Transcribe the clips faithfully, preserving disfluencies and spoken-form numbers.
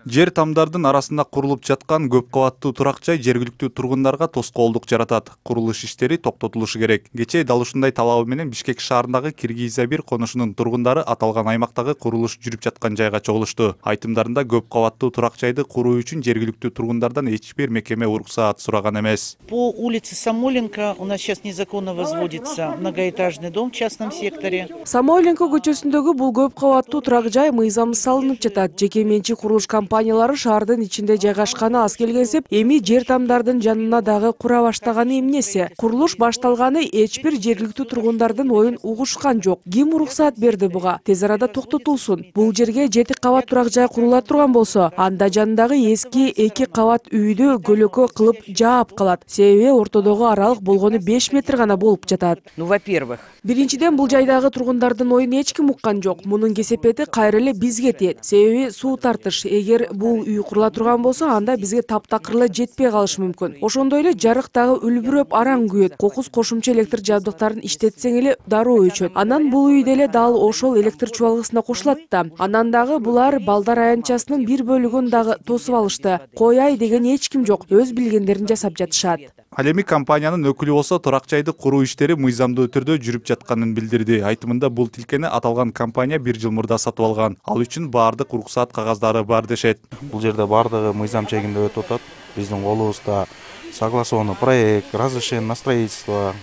Жер тамдардын арасында курулуп жаткан көп кабаттуу турак жай жергиликтүү тургундарга тоскоолдук жаратат. Курулуш иштери токтотулушу керек. Кечээ дал ушундай талабы менен Бишкек шаарындагы Киргизия бир конушунун тургундары аталган аймактагы курулуш жүрүп жаткан жайга чогулушту. Айтымдарында көп кабаттуу турак жайды куруу үчүн жергиликтүү тургундардан эч бир мекеме уруксаат сураган эмес. По улице Самойленко у нас сейчас незаконно возводится многоэтажный дом в частном секторе. Самойленко көчөсүндөгү бул көп кабаттуу турак жай мыйзамсыз салынып жатат. Жеке менчик курулуш компаниялары шаардын ичинде жайгашканы аз келгенсип, эми жер тамдардын жанына дагы кура баштаганы эмнеси? Курулуш башталганы эч бир жергиликтүү тургундардын оюн угушкан жок. Ким уруксаат берди буга? Тез арада токтотулсун. Бул жерге жети кабат турак жай курула турган болсо, анда жанындагы эски эки кабат үйдү көлөкө кылып жаап калат. Себеби ортодогу аралык болгону беш метр гана болуп жатат. Ну, во-первых, Биринчиден, бул жайдагы тургундардын оюн эч ким уккан жок. Мунун кесепети кайра эле бизге тиет. Себеби суу тартыш. Эгер бул үй курула турган болсо, анда бизге таптакыр эле жетпей калышы мүмкүн. Ошондой эле жарык дагы үлбүрөп араң күйөт. Кокус кошумча электр жабдыктарын иштетсең эле дароо өчөт. Анан бул үй деле дал ошол электр чубалгысына кошулат да. Анан дагы булар балдар аянтчасынын бир бөлүгүн дагы тосуп алышты. Кояй деген эч ким жок. Өз билгендерин жасап жатышат. Ал эми компаниянын өкүлү болсо турак жайды куруу иштери мыйзамдуу түрдө жүрүп жатканын билдирди. Айтымында бул тилкени аталган компания бир жыл мурда сатып алган. Ал үчүн баардык уруксаат кагаздары бар дешет. Бул жерде баардыгы мыйзам чегинде өтүп атат. Биздин колубузда согласованный проект, разрешение на строительство,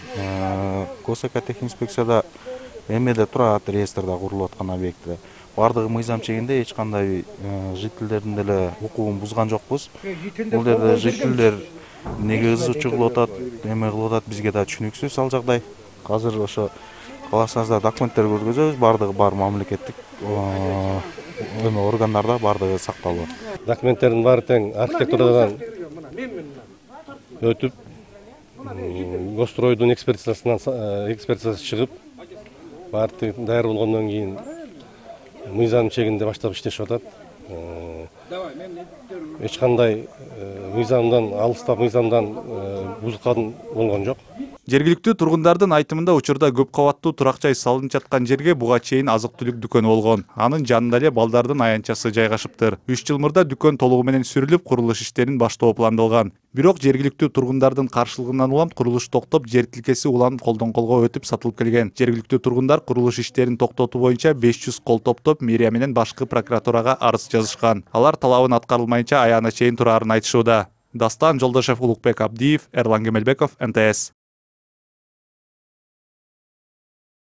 госэкотехинспекцияда эмеде турат, реестрде курулуп аткан объекти. Баардыгы мыйзам чегинде, эч кандай жителдердин деле укугун бузган жокпуз. Бул жерде жителдер неге ызы-чуу кылып атат, эме кылып атат, бизге да түшүнүксүз ал жагдай. Азыр ошо кааласаңыздар документтер көргөзөбүз, баардыгы бар мамлекеттик эме органдарда баардыгы сакталып. Документтердин баары тең архитектурадан өтүп, гостройдун экспертизасынан экспертизасы чыгып, баары даяр болгондон кийин мыйзам чегинде баштап иштешип атат. Эч кандай мыйзамдан алыстап мыйзамдан бузган болгон жок. Жергиликтүү тургундардын айтымында учурда көп кабаттуу турак жай салынып жаткан жерге буга чейин азык-түлүк дүкөнү болгон. Анын жанында эле балдардын аянтчасы жайгашыптыр. үч жыл мурда дүкөн толугу менен сүрүлүп, курулуш иштерин баштоо пландалган. Бирок жергиликтүү тургундардын каршылыгынан улам курулуш токтоп, жер тилкеси уланып колдон колго өтүп сатылып келген. Жергиликтүү тургундар курулуш иштерин токтотуу боюнча беш жүз кол топтоп, мэрия менен башкы прокуратурага арыз жазышкан. Алар талабын аткарылмайынча аяна чейин турарын айтышууда. Дастан Жолдошев, Улукбек Абдиев, Эрлан Кемелбеков, эн тэ эс.